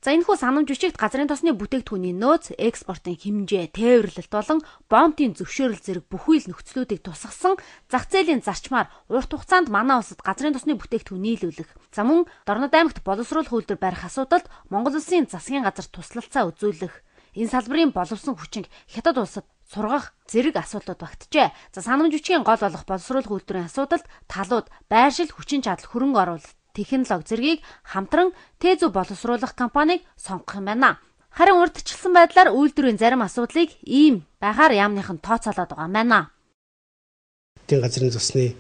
За энэхүү санамж бичигт газрын тосны бүтээгдэхүүний нөөц, экспортын хэмжээ, тээвэрлэлт болон бонтын зөвшөөрөл зэрэг бүхий л нөхцлүүдийг тусгасан зах зээлийн зарчмаар урт хугацаанд манай улсад газрын тосны бүтээгдэхүүн нийлүүлэх. За мөн Дорнод аймагт боловсруулах үйлдвэр барих асуудалд Монгол Улсын засгийн газар туслалцаа үзүүлэх. Энэ салбарын боловсон хүчинг хятад улсад сургах зэрэг асуудлууд багтжээ. За санамж бичгийн гол болох боловсруулах үйлдвэрийн асуудалд талууд, байршил, хүчин чадал, хөрөнгө оруулалт, технологи зэргийг хамтран Тэзүү боловсруулах компанийг сонгох юм байна. Харин урьдчилсан байдлаар үйлдвэрийн зарим асуудлыг ийм байхаар яамныхан тооцоолоод байгаа юм байна. Эдийн газрын засны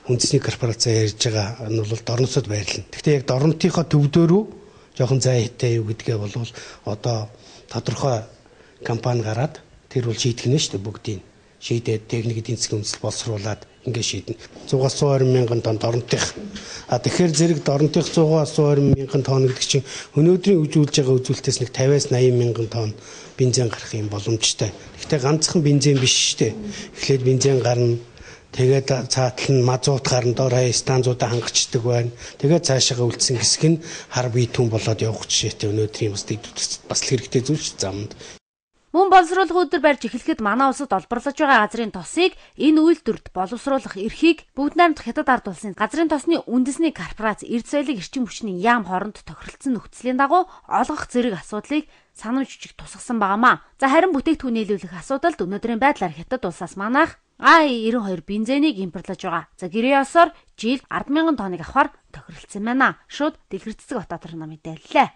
үндэсний корпорац ярьж байгаа нь бол Дорнотод байрлана. Гэхдээ яг Дорнотынхоо төвдөө жоохон зай хитэй юу гэдгээ бол одоо тодорхой компани гараад тэр бол шийдэх нь шүү дээ бүгдийг. Шийдээд техник эдийн засгийн үндэслэл боловсруулад ингээд шийднэ. 100-120 мянган тонн Дорнотынх. Тэгэхээр зэрэг Дорнотынх 100-120 мянган тонн гэдэг чинь өнөөдрийн үзүүлж байгаа үзүүлэлтээс нэг 50-80 мянган тонн бензин гарах юм боломжтой. Гэхдээ ганцхан бензин биш шүү дээ. Эхлээд бензин гарна. Тэгээд цаатал нь мазут гарна, дор хаяа станцуудаа хангацдаг байна. Тэгээд цаашаага үлдсэн хэсэг нь хар бие түн болоод явах жишээтэй өнөөдрийн бас л хэрэгтэй зүйл шүү замд. Мөн боловсруулах үйлдвэр барьж эхлэхэд манай улсад олборлож байгаа газрын тосыг энэ үйлдвэрт боловсруулах эрхийг бүгд найрамдах хятад ард улсын газрын тосны үндэсний корпорац эрдэс соёлын эрчим хүчний яам хооронд тохиролцсон нөхцөлийн дагуу олгох зэрэг асуудлыг санамж бичиг тусгасан байнамаа. За харин бүтээгдэхүүн нийлүүлэх асуудалд өнөөдрийн байдлаар хятад улсаас манайх А92 бензинийг импортлож байгаа. За гэрээ ёсоор жилд 10,000 тонныг авахар тохиролцсон байна. Шууд Дэлгэр Цэцэг Батбаатар нам мэдээллээ.